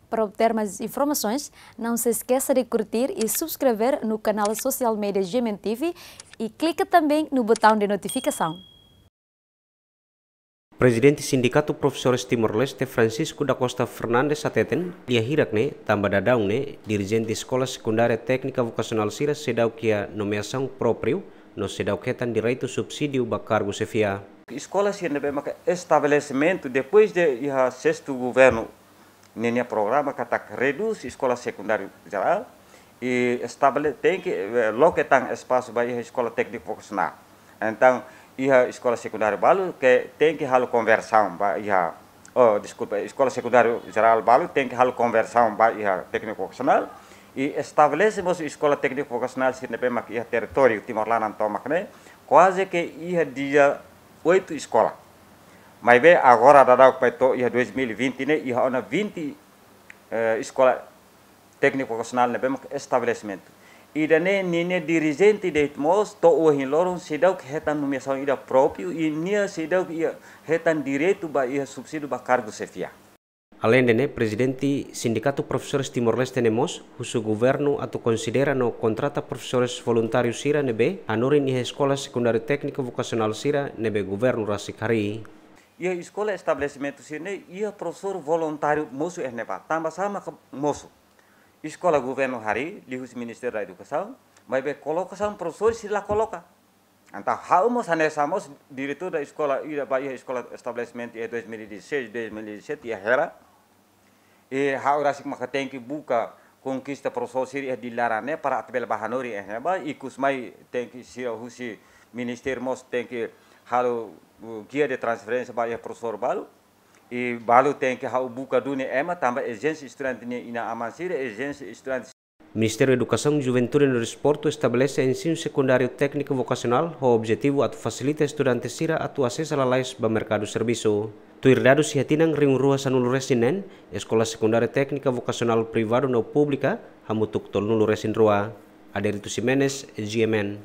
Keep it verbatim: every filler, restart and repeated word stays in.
Para obter mais informações, não se esqueça de curtir e subscrever no canal social media G M N T V e clica também no botão de notificação. Prezidente Sindikatu Profesores Timor-Leste, Francisco da Costa Fernandes, hateten, lia hirak ne'e, tanba daudaun ne'e, dirijente Eskola Sekundária Téknika Vokasionál sira seidauk iha nomeasaun própriu, no seidauk hetan direitu subsídiu ba kargu xefia. Eskola sira ne'ebé maka estabelesimentu depois de iha sestu governu ninia programa katak redús eskola sekundáriu jerál i estabele-, tenke, eh, loke tan espasu ba iha eskola tékniku vokasionál. Entaun, iha eskola sekundáriu balu ke tenke halo konversaun ba iha, oh, deskulpa, eskola sekundáriu jerál balu tenke halo konversaun ba iha tékniku vokasionál i estabelese mós eskola tékniku vokasionál sira ne'ebé mak iha territóriu Timor laran tomak ne'e, kuaze ke iha dia oitu eskola. Maibé agora daudauk bai to'o iha dois mil e vinte ne'e, iha ona vinte, eh, eskola tékniku vokasionál ne'ebé mak estabelesimentu. Ida-ne'e ninia dirijente de'it mós to'o ohin loron seidauk hetan nomeasaun ida própriu i nia seidauk iha hetan direitu ba iha subsídiu ba kargu xefia. Aleinde ne'e, Prezidente Sindikatu Profesores Timor-Leste ne'e mós husu governu atu konsidera no kontrata profesores voluntáriu sira ne'ebé hanorin iha eskola sekundáriu tékniku vokasionál sira ne'ebé governu rasik harii. Iha eskola estabelesimentu sira ne'e iha profesór voluntáriu mosu iha ne'ebá, tanba sá maka mosu. Eskola governu harii, liuhusi Ministériu da Edukasaun, maibé kolokasaun profesór sira la koloka. Entaun ha'u mós hanesan mós diretór da eskola ida ba iha eskola estabelesimentu iha dois mil e dezasseis, dois mil e dezassete iha Hera. I ha'u rasik maka tenke buka konkista profesór sira iha Dili laran ne'e para atu bele bá hanorin iha ne'ebá, ikus mai tenke sira husi ministériu mós tenke halo, uh, guia de transferénsia ba iha profesór balu. I balu tenke ha'u buka duni ema tanba ezijénsia estudante nia inan-aman sira, ezijénsia estudante. Ministériu Edukasaun, Juventude no Desportu estabelese ensinu sekundáriu tékniku vokasionál ho objetivu atu fasilita estudante sira atu asesa lalais ba merkadu servisu. Tuir dadus iha tinan rihun rua sanulu resin neen, eskola sekundária téknika vokasionál privadu no públika hamutuk tolunulu resin rua. Aderito Ximenes, G M N.